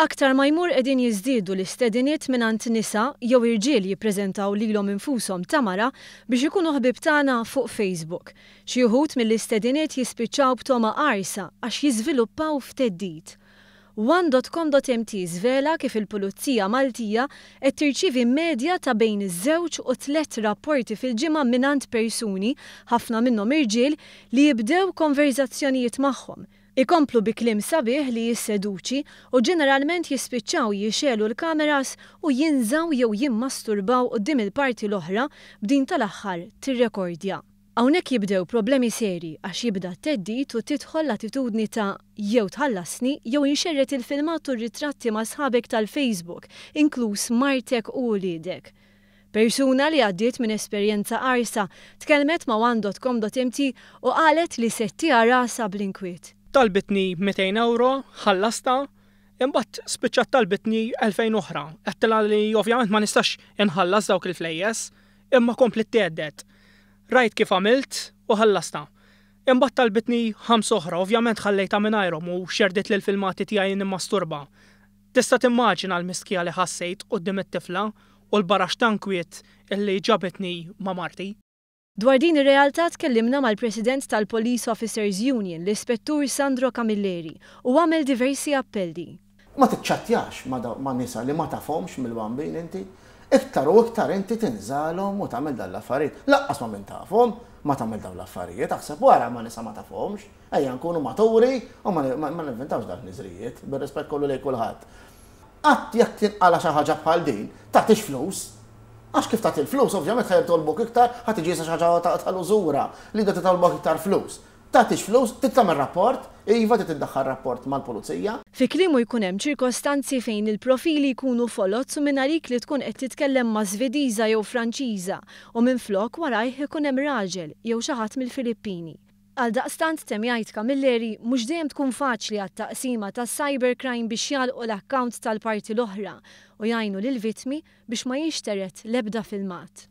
Aktar ma jmur qegħdin jiżdiedu l-istediniet mingħand nisa jew irġiel jippreżentaw lilhom infushom ta' mara biex ikunu ħbieb tagħna fuq Facebook. Xi uħud mill-istediniet jispiċċaw b'togħma qarsa għax jiżviluppaw f'theddid. One dot com dot mt żvela kif il-Pulizija Maltija qed tirċievi medja ta' bejn żewġ u tlett rapporti fil-ġimgħa mingħand persuni, ħafna minnhom irġiel, li jibdew konverżazzjonijiet magħhom, Ikomplu bi kliem sabiħ li jisseduċi u ġeneralment jispiċċaw jixegħlu l-kameras u jinżgħu jew jimmasturbaw quddiem il-parti l-oħra b'din tal-aħħar tirrekordja. Hawnhekk jibdew problemi seri għax jibda t-theddid u tidħol l-attitudni ta' jew tħallasni jew inxerred il-filmat u r-ritratti ma' sħabek tal-Facebook, inkluż martek u uliedek. Persuna li għaddiet minn esperjenza qarsa tkellmet ma' one dot com dot mt u qalet li se ttiha rasha bl-inkwiet. Talbitni 200 ewro, ħallastha, imbagħad spiċċat talbitni 2000 oħra. Għedtilha li ovvjament ma nistax inħallas dawk il-flejjes, imma kompliet thedded. Rajt kif għamilt u ħallastha. Imbagħad talbitni ħamsa oħra, ovvjament ħallejtha mingħajrhom u xerditli l-filmati tiegħi nimmasturba. Tista' timmaġina l-mistħija li ħassejt quddiem it-tifla u l-baraxx ta' nkwiet li ġabitni ma' marti. Dwar din ir-realtà tkellimna mal-President tal-Police Officers Union, l-Ispettur Sandro Camilleri, u għamel diversi appelli. Ma tiċċattjax ma' nisa li ma tafhomx mill-bambin inti. Iktar u iktar inti tinżalhom u tagħmel dan l-affarijiet. Lanqas ma' min tafhom ma tagħmel dawn l-affarijiet, aħseb wara ma' nisa ma tafhomx. Ejja nkunu maturi u ma nivvintawx dawn il-ħniżrijiet, bir-rispett kollu lejn kulħadd. Qatt jekk tinqala' xi ħaġa bħal din, tagħtix flus. Għax kif tagħti l-flus, ovvjament ħa jitolbuk iktar, ħa tiġi issa xi ħaġa tal-użura li jibda titolbok iktar flus. Tagħtix flus, trid tagħmel rapport, iva trid iddaħħal rapport mal-pulizija. Fi kliemu jkun hemm ċirkostanzi fejn il-profili jkunu foloz u mingħalik li tkun qed titkellem ma' Svediża jew Franċiża u minflok warajh ikun hemm raġel jew xi ħadd mill-Filippini. Għaldaqstant, temm jgħid Camilleri, mhux dejjem tkun faċli għat-taqsima tas-cybercrime biex jagħlqu l-account tal-parti l-oħra u jgħinu lill-vittmi biex ma jinxtered l-ebda filmat.